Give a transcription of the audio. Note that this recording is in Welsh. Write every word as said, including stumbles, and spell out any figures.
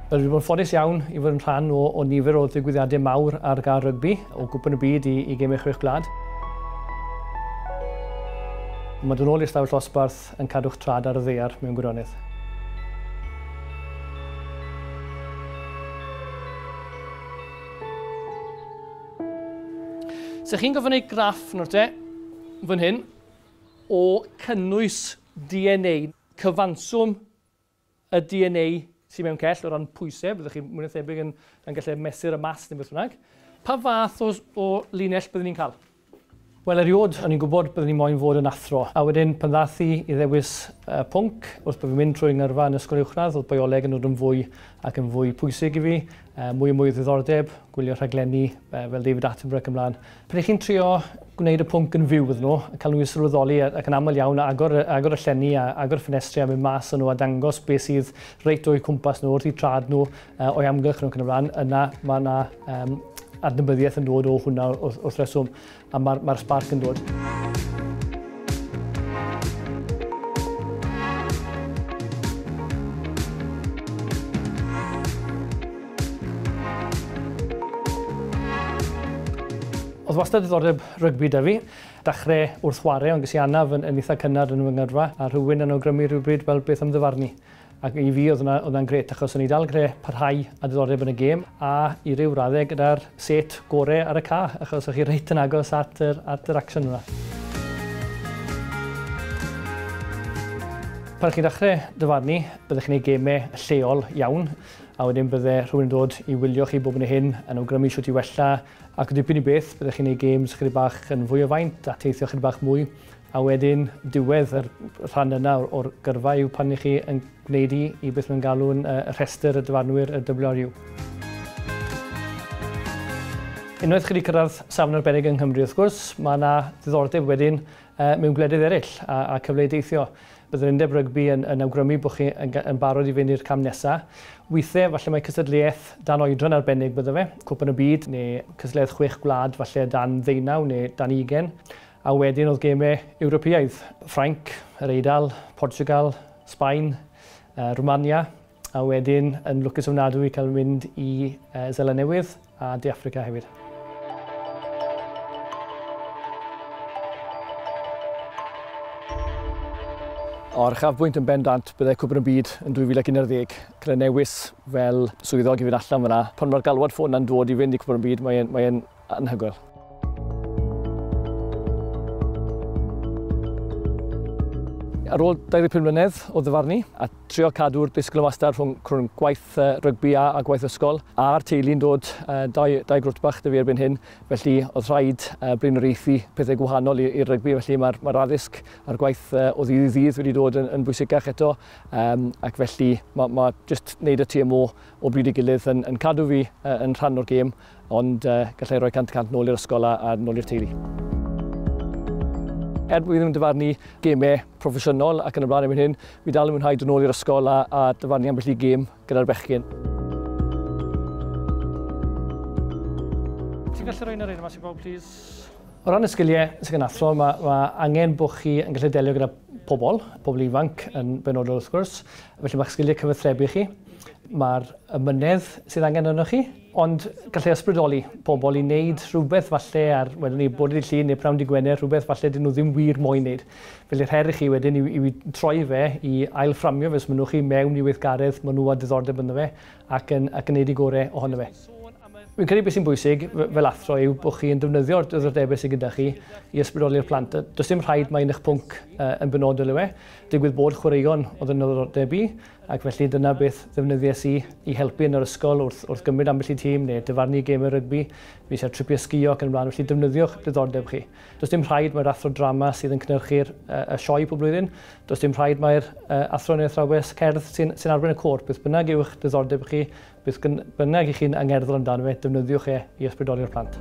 Wel, dwi wedi bod yn ffodus iawn i fod yn rhan o, o nifer o ddigwyddiadau mawr ar gael rygbi, o Gwpan y Byd i, i Gemau Chwech Gwlad. Mae dod nôl i'r stafell dosbarth yn cadw'ch trad ar y ddaear mewn gwirionedd. So chi'n gofyn ei graff nawr te, fan hyn, o cynnwys D N A, cyfanswm y D N A sydd mewn cell o ran pwysau, byddwch chi mwy na thebyg yn, yn gallu mesur y mas neu beth bynnag. Pa fath o, o linell byddwn ni'n cael? Wel, erioed, o'n i'n gwybod byddwn ni'n moyn fod yn athro. A wedyn, pan ddath i i ddewis uh, pwnc, wrth bod fi'n mynd trwy ngyrfa yn ysgol uwchradd, oedd bioleg yn dod yn fwy ac yn fwy pwysig i fi, uh, mwy a mwy o ddiddordeb, gwylio rhaglenni uh, fel David Attenborough ac ymlaen. Pan ych chi'n trio gwneud y pwnc yn fyw iddyn nhw, a cael nhw i sylweddoli ac yn aml iawn, agor, agor y llenni a agor y ffenestri a mynd mas yn nhw a dangos beth sydd reit o'u cwmpas nhw, wrth eu trad nhw, uh, o'i amgylch nhw ac yn y blaen, yna mae yna um, adnabyddiaeth yn dod o hwnna wrth, wrth reswm, a mae'r ma spark yn dod. Oedd wastad diddordeb rygbi da fi. Dechrau wrth chwarae, ond ges i anaf yn, yn eitha cynnar yn fy ngyrfa, a rhywun yn awgrymu rhywbryd fel beth am ddyfarnu. Ac i fi oedd hwnna'n grêt, achos o'n i dal greu parhau a diddordeb yn y gêm, a i ryw raddau gyda'r set gorau ar y ca, achos o'ch chi reit yn agos at yr, at yr action yna. Pan chi'n dechrau dyfarnu, byddech chi'n gwneud gemau lleol iawn, a wedyn bydde rhywun yn dod i wylio chi bob yn hyn, yn awgrymu shwt i wella, ac o dipyn i beth, byddech chi'n gwneud games chydig bach yn fwy o faint a teithio chydig bach mwy, a wedyn diwedd yr rhan yna o'r, o'r gyrfa yw pan i chi yn gwneud i, i beth mae'n galw'n uh, rhestr y dyfarnwyr y W R U. Unwaith chi wedi cyrraedd safon arbennig yng Nghymru, wrth gwrs, mae yna ddiddordeb wedyn uh, mewn gwledydd eraill a, a cyfle i deithio. Bydd yr Undeb Rygbi yn, yn awgrymu bod chi yn, yn barod i fynd i'r cam nesaf. Weithiau, falle mae cystadleuaeth dan oedran arbennig bydde fe, Cwpan y Byd neu cystadleuaeth chwech gwlad falle dan ddeunaw neu dan ugain. A wedyn oedd gemau Ewropeaidd, Ffrainc, yr Eidal, Portugal, Sbaen, uh, Romania, a wedyn yn lwcus ofnadwy cael mynd i uh, Seland Newydd a De Affrica hefyd. O'r uchafbwynt yn bendant byddai Cwpan y Byd yn dwy fil ac un ar ddeg, gyda newis fel swyddog i fynd allan fyna. Pan mae'r galwad ffôn na'n dod i fynd i Cwpan y Byd, mae'n mae anhygoel. Ar ôl dau ddeg pum mlynedd o ddyfarnu a trio cadw'r disgwyl yn wastad rhwng, rhwng gwaith uh, rygbi a, a gwaith ysgol, a'r teulu'n dod uh, dau, dau grwt bach 'da fi erbyn hyn, felly oedd rhaid uh, blaenoriaethu pethau gwahanol i'r rygbi, felly mae'r mae addysg a'r gwaith uh, o ddydd i ddydd wedi dod yn, yn bwysicach eto, um, ac felly mae ma jyst wneud y T M O o bryd i gilydd yn, yn cadw fi uh, yn rhan o'r gêm, ond uh, gallai roi cant y cant nôl i'r ysgol a, a nôl i'r teulu. Er bod fi ddim yn dyfarnu gemau proffesiynol ac yn y blaen erbyn hyn, fi dal yn mwynhau dod nôl i'r ysgol a, a dyfarnu ambell i gêm gyda'r bechgyn. Ti'n gallu rhoi un ar un yma sy'n bawb, please? O ran y sgiliau sydd gan athro, mae, mae angen bod chi yn gallu delio gyda pobl, pobl ifanc yn benodol wrth gwrs, felly mae'ch sgiliau cyfathrebu chi, mae'r ymynedd sydd angen arnoch chi, ond gallai ysbrydoli pobl i wneud rhywbeth falle ar, wedyn ni, bore dydd Llun neu pnawn dydd Gwener, rhywbeth falle dyn nhw ddim wir moyn wneud. Felly'r her i chi wedyn yw, yw troi fe, i ailfframio fe, os maen nhw chi mewn i weithgaredd, maen nhw â diddordeb ynddo fe, ac yn, ac yn neud i gorau ohono fe. Fi'n credu beth sy'n bwysig fel athro yw bod chi yn defnyddio'r diddordebau sydd gyda chi i ysbrydoli'r plant. Does dim rhaid mai un eich pwnc uh, yn benodol yw e. Digwydd bod chwaraeon oedd yn ddiddordeb i, ac felly dyna beth ddefnyddiais i i helpu yn yr ysgol wrth, wrth gymryd ambell i tîm neu dyfarnu gemau rygbi. Fi eisiau tripiau sgïo ac yn ymlaen, felly defnyddiwch diddordeb chi. Does dim rhaid mai'r athro drama sydd yn cynhyrchu'r uh, y sioe pob blwyddyn. Does dim rhaid mai'r uh, athro neu athrawes cerdd sy'n sy arwain y côr. Beth bynnag yw'ch diddordeb chi, beth bynnag i chi'n angerddol amdano fe, defnyddiwch e i ysbrydoli'r plant.